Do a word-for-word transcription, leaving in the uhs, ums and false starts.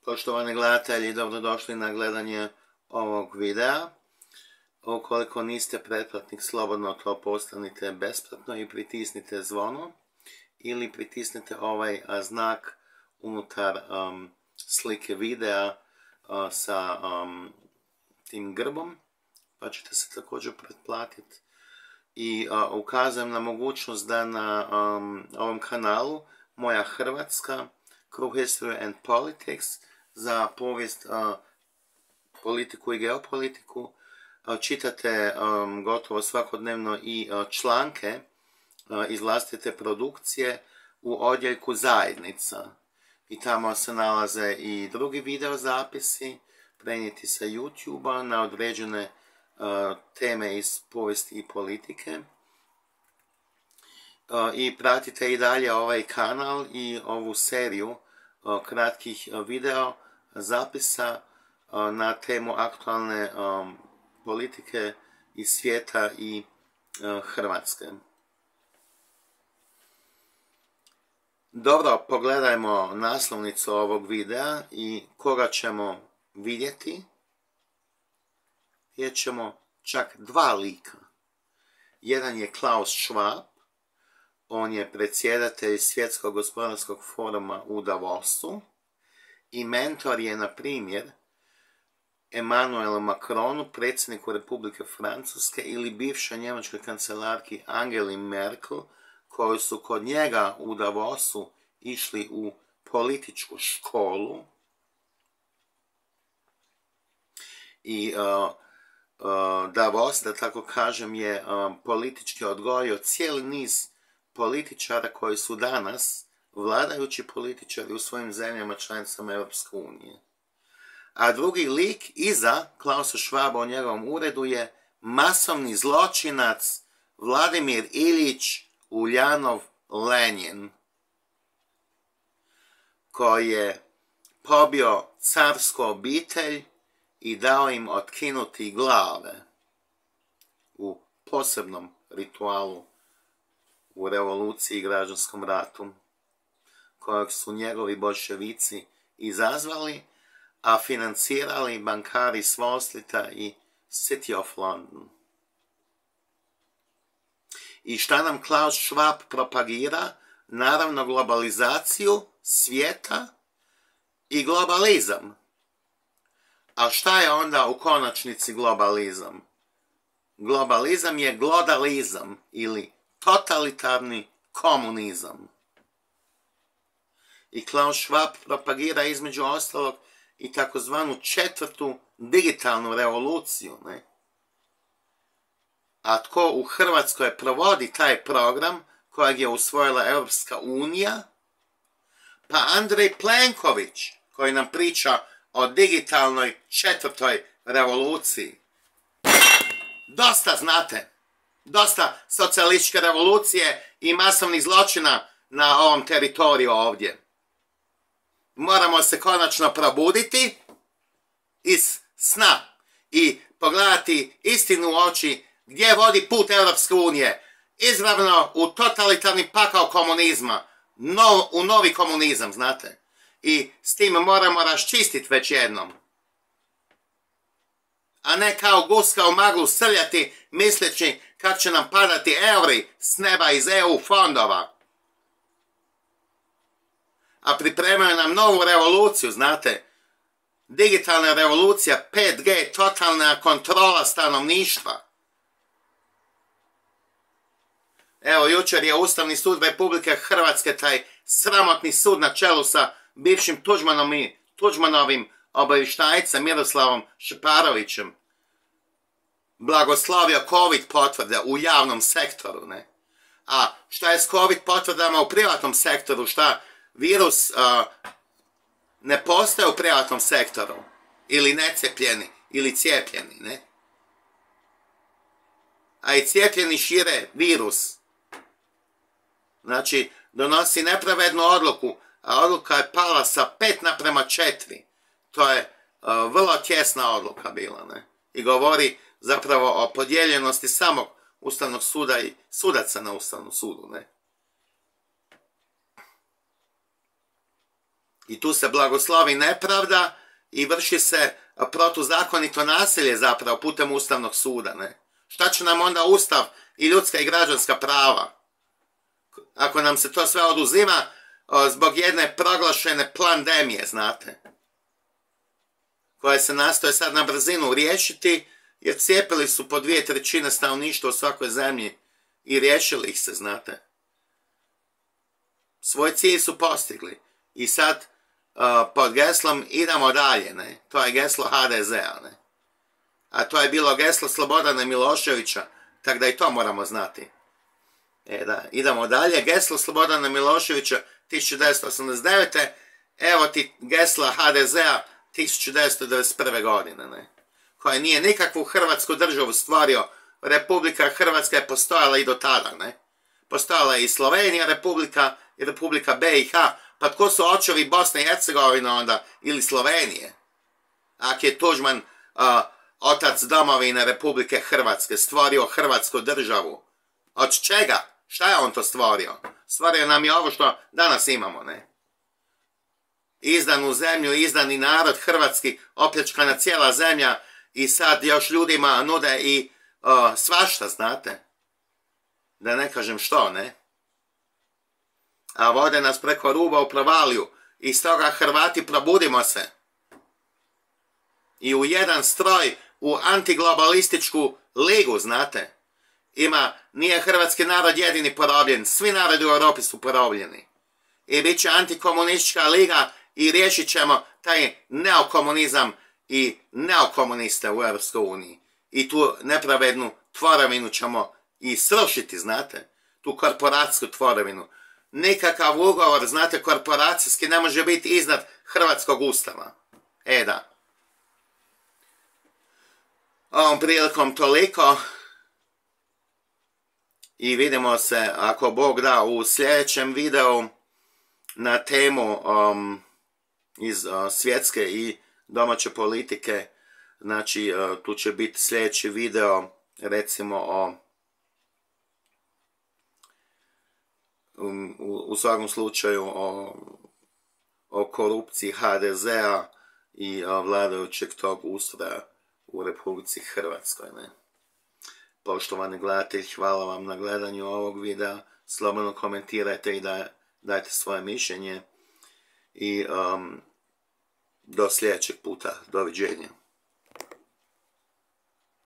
Poštovani gledatelji, dobrodošli na gledanje ovog videa. Ukoliko niste pretplatnik, slobodno to postanite besplatno i pritisnite zvono ili pritisnite ovaj a, znak unutar um, slike videa uh, sa um, tim grbom, pa ćete se također pretplatiti. I uh, ukazujem na mogućnost da na um, ovom kanalu Moja Hrvatska, Crew History and Politics, za povijest, uh, politiku i geopolitiku, uh, čitate um, gotovo svakodnevno i uh, članke uh, iz vlastite produkcije u odjeljku zajednica. I tamo se nalaze i drugi video zapisi, prenijeti sa YouTube-a na određene uh, teme iz povijesti i politike. Uh, I pratite i dalje ovaj kanal i ovu seriju uh, kratkih uh, video zapisa uh, na temu aktualne um, politike iz svijeta i uh, Hrvatske. Dobro, pogledajmo naslovnicu ovog videa i koga ćemo vidjeti. Vidjet ćemo čak dva lika. Jedan je Klaus Schwab, on je predsjedatelj Svjetskog gospodarskog foruma u Davosu i mentor je, na primjer, Emmanuelu Macronu, predsjedniku Republike Francuske, ili bivšoj njemačkoj kancelarki Angeli Merkel, koji su kod njega u Davosu išli u političku školu. I uh, uh, Davos, da tako kažem, je uh, politički odgojio cijeli niz političara koji su danas vladajući političari u svojim zemljama članicama Europske unije. A drugi lik iza Klausa Schwaba u njegovom uredu je masovni zločinac Vladimir Iljić Uljanov Lenjin, koji je pobio carsku obitelj i dao im otkinuti glave u posebnom ritualu u revoluciji i građanskom ratu, kojeg su njegovi boljševici izazvali, a financirali bankari s Wall Streeta i City of London. I šta nam Klaus Schwab propagira? Naravno globalizaciju svijeta i globalizam. A šta je onda u konačnici globalizam? Globalizam je glodalizam ili totalitarni komunizam. I Klaus Schwab propagira između ostalog i takozvanu četvrtu digitalnu revoluciju, ne? A tko u Hrvatskoj provodi taj program kojeg je usvojila Europska unija? Pa Andrej Plenković, koji nam priča o digitalnoj četvrtoj revoluciji. Dosta, znate, dosta socijalističke revolucije i masovnih zločina na ovom teritoriju ovdje. Moramo se konačno probuditi iz sna i pogledati istinu u oči gdje vodi put Europske unije. Izravno u totalitarni pakao komunizma, no, u novi komunizam, znate. I s tim moramo raščistiti već jednom. A ne kao guska u maglu srljati misleći kako će nam padati euri s neba iz E U fondova. A pripremaju nam novu revoluciju, znate. Digitalna revolucija, pet G, totalna kontrola stanovništva. Evo, jučer je Ustavni sud Republike Hrvatske, taj sramotni sud na čelu sa bivšim Tuđmanom i Tuđmanovim obavještajcem Miroslavom Šeparovićem, blagoslovio COVID potvrde u javnom sektoru, ne? A šta je s COVID potvrdama u privatnom sektoru? Šta virus uh, ne postaje u privatnom sektoru? Ili necijepljeni, ili cijepljeni, ne? A i cijepljeni šire virus. Znači, donosi nepravednu odluku, a odluka je pala sa pet naprema četiri. To je uh, vrlo tjesna odluka bila, ne? I govori zapravo o podijeljenosti samog Ustavnog suda i sudaca na Ustavnom sudu, ne? I tu se blagoslovi nepravda i vrši se protuzakonito nasilje zapravo putem Ustavnog suda. Ne? Šta će nam onda Ustav i ljudska i građanska prava? Ako nam se to sve oduzima zbog jedne proglašene pandemije, znate, koje se nastoje sad na brzinu riješiti, jer cijepili su po dvije trećine stanovništva u svakoj zemlji i riješili ih se, znate. Svoj cilj su postigli. I sad uh, pod geslom idemo dalje, ne? To je geslo ha de zea, ne? A to je bilo geslo Slobodana Miloševića, tako da i to moramo znati. E da, idemo dalje. Geslo Slobodana Miloševića tisuću devetsto osamdeset devete. Evo ti gesla ha de zea tisuću devetsto devedeset prve. godine, ne? Koja nije nikakvu Hrvatsku državu stvorio. Republika Hrvatska je postojala i do tada, ne? Postojala je i Slovenija Republika i Republika be i ha. Pa tko su očevi Bosne i Hercegovine onda? Ili Slovenije? Ako je Tuđman uh, otac domovine Republike Hrvatske stvorio Hrvatsku državu. Od čega? Šta je on to stvorio? Stvorio nam je ovo što danas imamo, ne? Izdanu zemlju, izdani narod hrvatski, opljačkana cijela zemlja i sad još ljudima nude i uh, svašta, znate? Da ne kažem što, ne? A vode nas preko ruba u provaliju. I stoga Hrvati probudimo se. I u jedan stroj, u antiglobalističku ligu, znate? Ima, nije hrvatski narod jedini porobljen. Svi narodi u Europi su porobljeni. I bit će antikomunistička liga i riješit ćemo taj neokomunizam i neokomuniste u Europskoj uniji. I tu nepravednu tvorevinu ćemo i srušiti, znate? Tu korporacijsku tvorevinu. Nikakav ugovor, znate, korporacijski ne može biti iznad hrvatskog ustava. E da. Ovom prilikom toliko. I vidimo se, ako Bog da, u sljedećem videu na temu um, iz uh, svjetske i domaće politike. Znači, uh, tu će biti sljedeći video, recimo, o um, u, u svakom slučaju o, o korupciji ha de zea i uh, vladajućeg tog ustroja u Republici Hrvatskoj, ne? Poštovani gledatelji, hvala vam na gledanju ovog videa. Slobodno komentirajte i da, dajte svoje mišljenje. I um, do sljedećeg puta. Doviđenja.